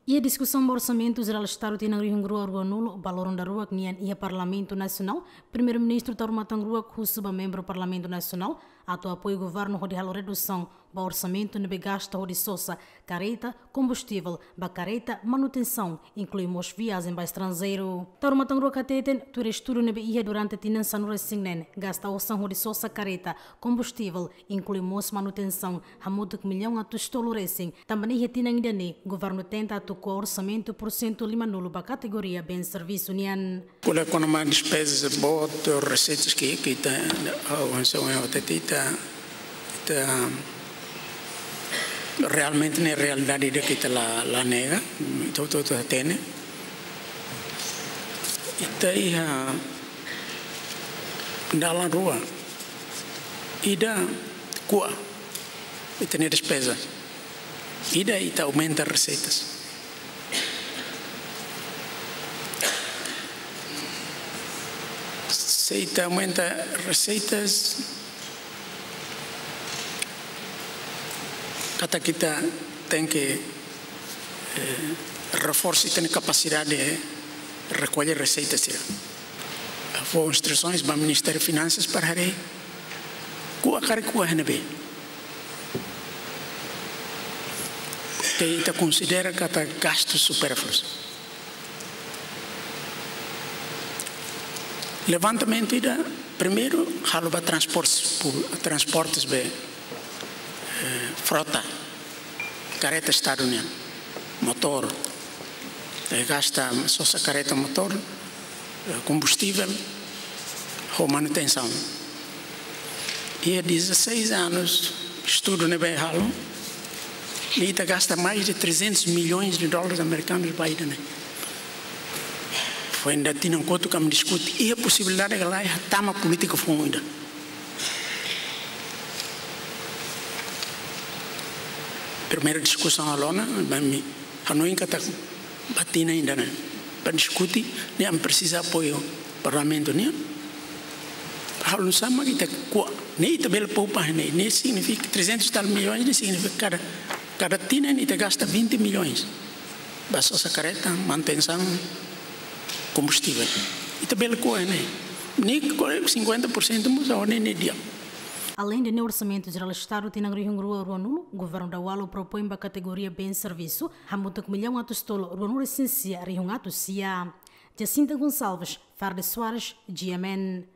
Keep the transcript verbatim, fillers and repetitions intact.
Iha diskusaun ba Orsamentu Jerál Estadu tinan rihun rua ruanulu ba loron daruak nian iha Parlamentu Nasionál, Primeiru-Ministru Taur Matan Ruak husu ba membru Parlamentu Nasionál atu apoiu governu hodi halo redusaun ba orsamentu ne'ebé gasta hodi sosa kareta, kombustivel ba kareta, manutensaun, inklui mós viajen ba estranjeiru. Taur Matan Ruak hateten, tuir estudu ne'ebé iha durante tinan sanulu-resin-neen, gasta osan hodi sosa kareta, kombustivel, inklui mós manutensaun, hamutuk millaun atus tolu resin. Tanba ne'e iha tinan ida-ne'e, governu tenta atu ko'a orsamentu pursentu limanulu ba kategoria bens servisu nian. Kula kona-ba despezas boot, reseitas ke, ke ita, ah, hanesan ohin ha'u hatete, ita, ita realmente ne'e realidade ida ke ita la, la nega, ita hotu-hotu hatene. Ita iha dalan rua. Ida ko'a ita-nia despeza. Ida ita aumenta reseitas. Se ita aumenta reseitas, katak ita tenke, eh, reforsa ita-nia kapasidade, eh, rekolla reseitas sira. Fó instrusoens ba Ministériu Finansas para haree ko'a karik ko'a iha ne'ebé ke ita konsidera katak gastus supérfluus. Levantamentu ida, primeiru, halo ba transportes, pu-, transportes be, eh, frota, kareta Estadu nian, motór, eh, gasta sosa kareta, motór, eh, kombustivel, ho manutensaun. Iha dezasseis anos, estudu ne'ebé halo, ita gasta mais de trezentos milhões de dólares americanos ba ida-ne'e. Foin ida tinan kotuk ami diskute, iha posibilidade ka lae, hatama polítika foun ida. Primeira diskusaun halo ona, ba ami hanoin katak ba tinan ida-ne'e, ba diskute, ne'e ami presiza apoiu Parlamentu nian. Halo nu'usá mak ita ko'a, ne'e ita bele poupa, ne'e, ne'e signifika trezentos e tal milhões, ne'e signifika kada, kada tinan ita gasta vinte milhões ba sosa kareta, manutensaun, kombustivel. Ita bele ko'a ne'e. Ne'e ko'a cinquenta por cento mós, ne'e, ne'e di'ak. Aleinde ne'e, Orsamentu Jerál Estadu tinan rihun rua ruanulu, Governu Dawalu propoin ba kategoria bens servisu, hamutuk millaun atus tolu ruanulu-resin-sia rihun atus sia. Jacinta Gonçalves, Fardes Soares, G M N.